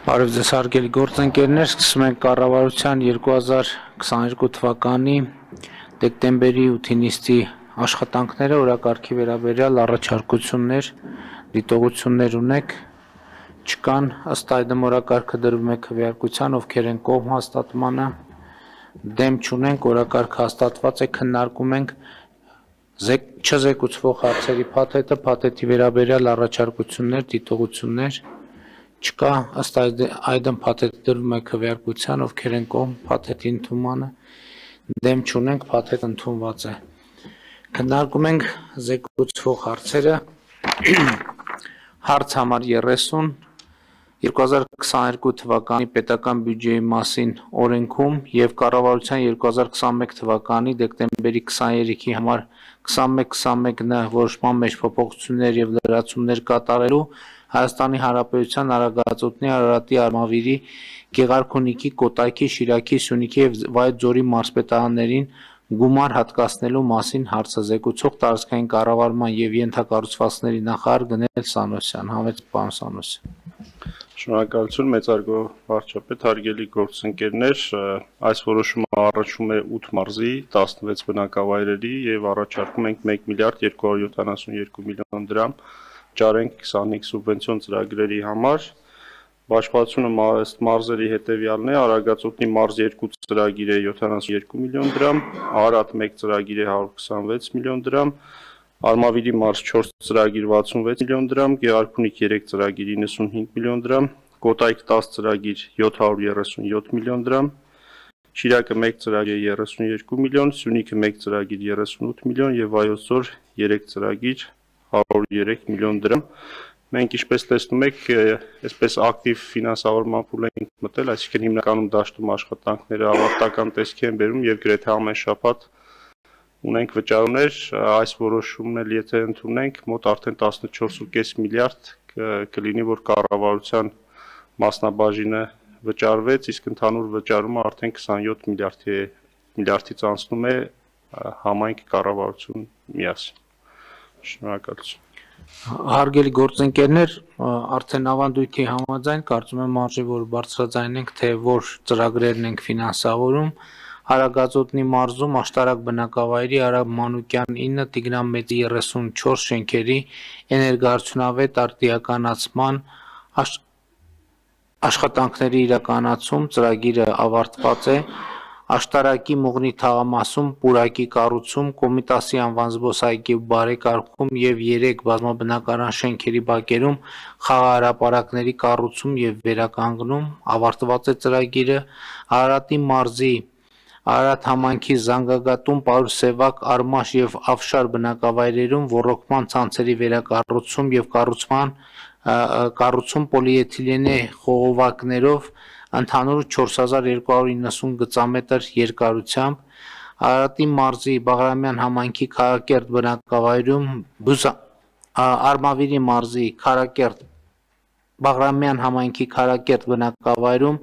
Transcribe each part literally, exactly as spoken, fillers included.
Բարև ձեզ հարգելի գործընկերներ, սկսում ենք կառավարության երկու հազար քսաներկու թվականի դեկտեմբերի ութի նիստի աշխատանքները, օրակարգի վերաբերյալ առաջարկություններ, դիտողություններ ունեք, չկան, ըստ այդմ օրակարգը դրվում է քվեարկության, ովքեր են կողմ հաստատմանը, դեմ չունենք, օրակարգը հաստատված է, քննարկում ենք չզեկուցվող հարցերի փաթեթը, փաթեթի վերաբերյալ առաջարկություններ, դիտողություններ չկա, ըստ այդմ փաթեթը դրվում է քվեարկության, ովքեր են կողմ փաթեթի ընդունմանը, դեմ չունենք, փաթեթը ընդունված է։ Քննարկում ենք զեկուցվող հարցերը, հարց համար երեսուն, երկու հազար քսաներկու թվականի պետական բյուջեի մասին օրենքում և կառավարության երկու հազար քսաներկու թվականի դեկտեմբերի քսաներեքի համար քսանմեկ քսանմեկ ն որոշման մեջ փոփոխություններ և լրացումներ կատարելու Հայաստանի Հանրապետության Արագածոտնի, Արարատի, Արմավիրի, Գեղարքունիքի, Կոտայքի, Շիրակի, Սյունիքի և Վայոց-Ձորի մարզպետարաններին գումար հատկացնելու մասին հարցը զեկուցող տարածքային կառավարման և ենթակառուցվածքների նախարար Գնել Սանոսյան։ Համեցեք, պարոն Սանոսյան։ Շնորհակալություն, մեծարգո վարչապետ, հարգելի գործընկերներ, այս որոշումը առնչվում է ութ մարզի, տասնվեց բնակավայրերի և առաջարկում ենք մեկ միլիարդ երկու հարյուր յոթանասունյոթ միլիոն դրամ ճարենք քսանհինգ սուբվենցիոն ծրագրերի համար։ Բաշխվածությունը ըստ մարզերի հետևյալն է՝ Արագածոտնի մարզ երկու ծրագիր է յոթանասունյոթ միլիոն դրամ, Արարատ մեկ ծրագիր է հարյուր քսանվեց միլիոն դրամ, Արմավիրի մարզ չորս ծրագիր վաթսունվեց միլիոն դրամ, Գեղարքունիք երեք ծրագիր իննսունհինգ միլիոն դրամ, Կոտայք դաս ծրագիր յոթ հարյուր երեսունյոթ միլիոն դրամ, Շիրակը մեկ ծրագիր երեսունյոթ միլիոն, Սյունիքը մեկ ծրագիր երեսունութ միլիոն և Վայոց-Ձոր երեք ծրագիր հարյուր երեք միլիոն դրամ։ Մենք ինչպես տեսնում եք, այսպես ակտիվ ֆինանսավորման փուլ ենք մտել, այսինքն հիմնականում դաշտում աշխատանքները ավարտական տեսքի են բերում և գրեթե ամեն շաբաթ ունենք վճարումներ, այս որոշումն էլ եթե ընդունենք, մոտ արդեն տասնչորս կόμma պենս միլիարդ կլինի, որ կառավարության մասնաբաժինը վճարվեց, իսկ ընդհանուր վճարումը արդեն քսանյոթ միլիարդից անցնում է համայնք կառավարություն միասին։ Շնորհակալություն։ Հարգելի գործընկերներ, արդեն ավանդույթի համաձայն կարծում եմ արժի որ բարձրաձայնենք, թե որ ծրագրերն ենք ֆինանսավորում։ Արագածոտնի մարզում աշտարակ բնակավայրի Արամ Մանուկյան ինը, Տիգրան Մեծի երեսունչորս շենքերի էներգոարդյունավետ արդիականացման աշխատանքների իրականացում ծրագիրը ավարտված է։ Աշտարակի Մուղնի թաղամասում պուրակի կառուցում, Կոմիտասի անվան զբոսայգի բարեկարգում և երեք բազմաբնակարան շենքերի բակերում խաղահրապարակների կառուցում և վերականգնում, ավարտված է ծրագիրը։ Արարատի մարզի Արարատ համայնքի Զանգագատում, Պարուսևակ, Արմաշ և Աֆշար բնակավայրերում ոռոգման ցանցերի վերակառուցում և կառուցման կառուցում պոլիէթիլենե խողովակներով ընդհանուր չորս հազար երկու հարյուր իննսուն գծամետր երկարությամբ, Արարատի մարզի Բաղրամյան համայնքի Քարակերտ բնակավայրում, Արմավիրի մարզի Քարակերտ Բաղրամյան համայնքի Քարակերտ բնակավայրում,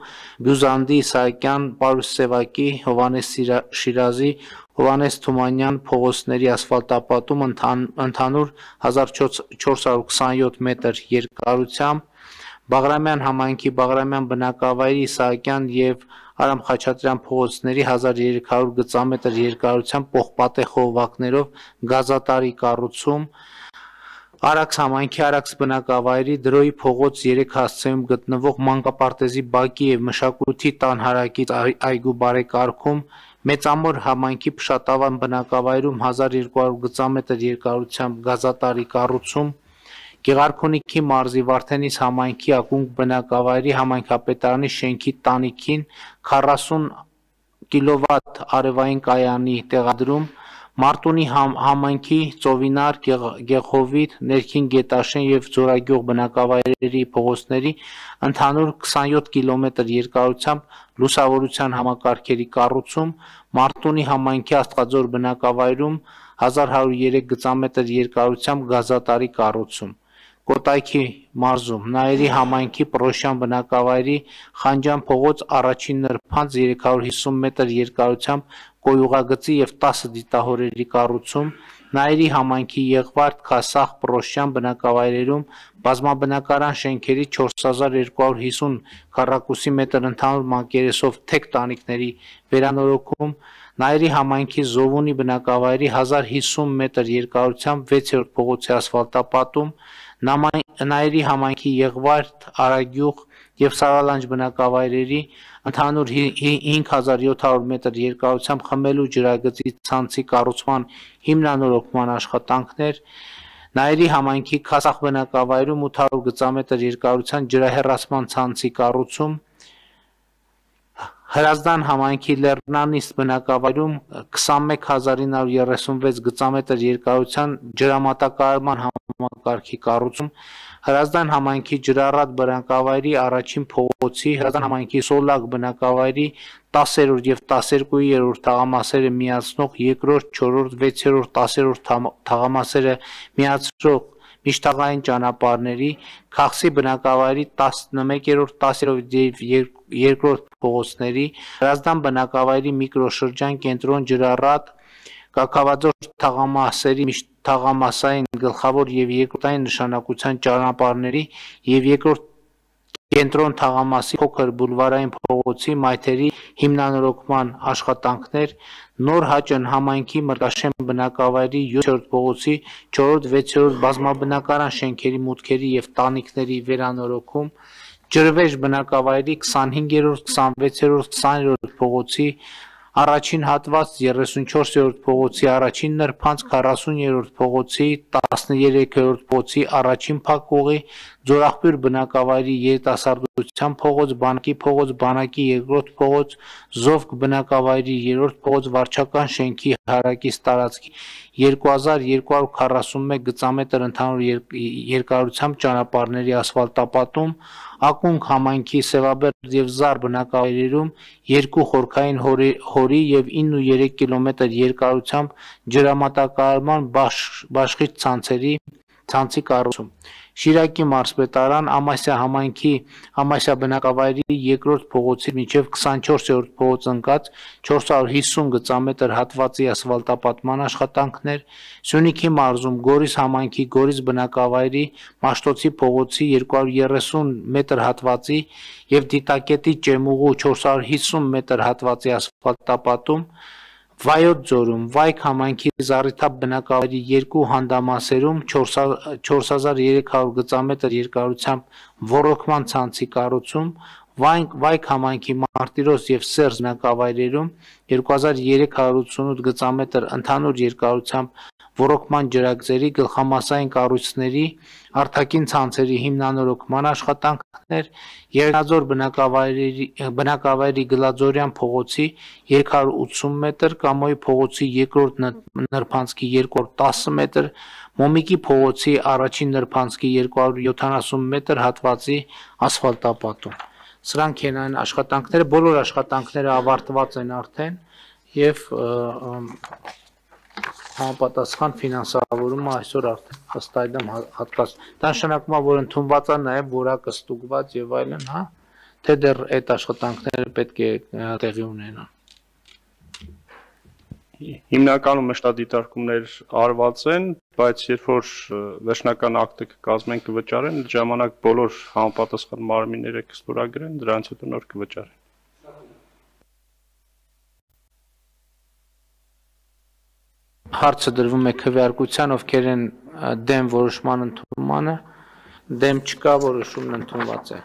Բյուզանդի Իսահակյան, Պարուսևակի, Հովհաննես Շիրազի, Հովհաննես Թումանյան փողոցների ասֆալտապատում ընդհանուր հազար չորս հարյուր քսանյոթ մետր երկարությամբ, Բաղրամյան համայնքի Բաղրամյան բնակավայրի Իսահակյան և Արամ Խաչատրյան փողոցների հազար երեք հարյուր գծամետր երկարությամբ պողպատե խողովակներով գազատարի կառուցում, Արաքս համայնքի Արաքս բնակավայրի Դրոյի փողոց երեք հասցեում գտնվող մանկապարտեզի բակի և մշակույթի տան հարակից այգու բարեկարգում, Մեծամոր համայնքի Փշատավան բնակավայրում հազար երկու հարյուր գծամետր երկարությամբ գազատարի կառուցում, Գեղարքունիքի մարզի Վարդենիս համայնքի Ակունք բնակավայրի համայնքապետարանի շենքի տանիքին քառասուն կիլովատ արևային կայանի տեղադրում, Մարտունի համայնքի Ծովինար, Գեղհովիտ, Ներքին Գետաշեն և Ձորագյուղ բնակավայրերի փողոցների ընդհանուր քսանյոթ կիլոմետր երկարությամբ լուսավորության համակարգերի կառուցում, Մարտունի համայնքի Աստղաձոր բնակավայրում հազար հարյուր երեք գծամետր երկարությամբ գազատարի կառուցում, Կոտայքի մարզում Նայերի համայնքի Պռոշյան բնակավայրի Խանջյան փողոց առաջին նրբանց երեք հարյուր հիսուն մետր երկարությամբ կոյուղագծի և տասը դիտահորերի կառուցում, Նայերի համայնքի Եղվարդ, Քասախ, Պռոշյան բնակավայրերում բազմաբնակարան շենքերի չորս հազար երկու հարյուր հիսուն քառակուսի մետր ընդհանուր մակերեսով թեք տանիքների վերանորոգում, Նայիրի համայնքի Զովունի բնակավայրի հազար հիսուն մետր երկարությամբ վեցերորդ փողոցի ասֆալտապատում, Նայիրի համայնքի Եղվարդ, Արագյուղ և Սարալանջ բնակավայրերի ընդհանուր հինգ հազար յոթ հարյուր մետր երկարությամբ խմելու ջրագծի ցանցի կառուցման հիմնանորոգման աշխատանքներ, Նայիրի համայնքի Քասախ բնակավայրում ութ հարյուր գծամետր երկարությամբ ջրահեռացման ցանցի կառուցում, Հրազդան համայնքի Լեռնանիստ բնակավայրում քսանմեկ հազար ինը հարյուր երեսունվեց գծամետր երկարությամբ ջրամատակարարման համակարգի կառուցում, Հրազդան համայնքի Ջրառատ բնակավայրի առաջին փողոցի, Հրազդան համայնքի Սոլակ բնակավայրի տասերորդ և տասներկուերորդ թաղամասերը միացնող երկրորդ, չորրորդ, վեցերորդ, տասերորդ թաղամասերը միացրող միջթաղային ճանապարհների, Քաղցի բնակավայրի տասնմեկերորդ, տասներորդ և երկրորդ փողոցների, Հրազդան բնակավայրի միկրոշրջան կենտրոն Ջրառատ, Կաքավաձոր թաղամասերի միջթաղամասային գլխավոր և երկրորդային նշանակության ճանապարհների և երկրորդ կենտրոն թաղամասի փոքր բուլվարային փողոցի մայթերի հիմնանորոգման աշխատանքներ, Նոր Հաճն համայնքի Մրգաշեն բնակավայրի յոթերորդ փողոցի չորրորդ, վեցերորդ բազմաբնակարան շենքերի մուտքերի և տանիքների վերանորոգում, Ջրվեժ բնակավայրի քսանհինգերորդ, քսանվեցերորդ, քսաներորդ փողոցի առաջին հատված, երեսունչորսերորդ փողոցի առաջին նրբանց, քառասուներորդ փողոցի, տասներեքերորդ փողոցի առաջին փակուղի, Ձորախբյուր բնակավայրի երիտասարդության փողոց, Բանակի փողոց, Բանակի երկրորդ փողոց, Զովք բնակավայրի երրորդ փողոց, Վարչական շենքի հարակից տարածքի երկու հազար երկու հարյուր քառասունմեկ գծամետր ընդհանուր երկարությամբ ճանապարհների ասֆալտապատում, Ակունք համայնքի Սևաբերդ և Զար բնակավայրերում երկու խորքային հորի և ինը ու երեք կիլոմետր երկարությամբ ջրամատակարարման բաշխիչ ցանցի կառուցում, Շիրակի մարզպետարան, Ամասիա համայնքի Ամասիա բնակավայրի երկրորդ փողոցից մինչև քսանչորսերորդ փողոց ընկած չորս հարյուր հիսուն գծամետր հատվածի ասֆալտապատման աշխատանքներ, Սյունիքի մարզում Գորիս համայնքի Գորիս բնակավայրի Մաշտոցի փողոցի երկու հարյուր երեսուն մետր հատվածի և Դիտակետի Ճեմուղու չորս հարյուր հիսուն մետր հատվածի ասֆալտապատում, Վայոց ձորում Վայք համայնքի Զառիթափ բնակավայրի երկու հանդամասերում չորս հազար երեք հարյուր գծամետր երկարությամբ ոռոգման ցանցի կառուցում, Վայք համայնքի Մարտիրոս և Սերժ բնակավայրերում երկու հազար երեք հարյուր ութսունութ գծամետր ընդհանուր երկարությամբ ոռոգման ջրագծերի, գլխամասային կառույցների, արտաքին ցանցերի հիմնանորոգման աշխատանքներ, Եղեգնաձոր բնակավայրի Գլաձորյան փողոցի երեք հարյուր ութսուն մետր, Կամոյի փողոցի երկրորդ նրբանցքի երկու հարյուր տասը մետր, Մոմիկի փողոցի առաջին նրբանցքի երկու հարյուր յոթանասուն մետր հատվածի ասֆալտապատում։ Սրանք են այն աշխատանքները, բոլոր աշխատանքները ավարտված են արդեն և համապատասխան ֆինանսավորումը այսօր արդեն ըստ այդմ հատկաց։ Դա նշանակում է, որ ընդունված է նաև որակը ստուգված եւ այլն, հա, թե դեռ այդ աշխատանքները պետք է տեղի ունենան։ Հիմնականում մշտադիտարկումներ արված են, բայց երբ որ վերջնական ակտը կկազմեն կվճարեն, այդ ժամանակ բոլոր համապատասխան մարմինները կստորագրեն, դրանից հետո նոր կվճարեն։ Հարցը դրվում է քվեարկության, ովքեր են դեմ որոշման ընդունմանը, դեմ չկա, որոշումն ընդունված է։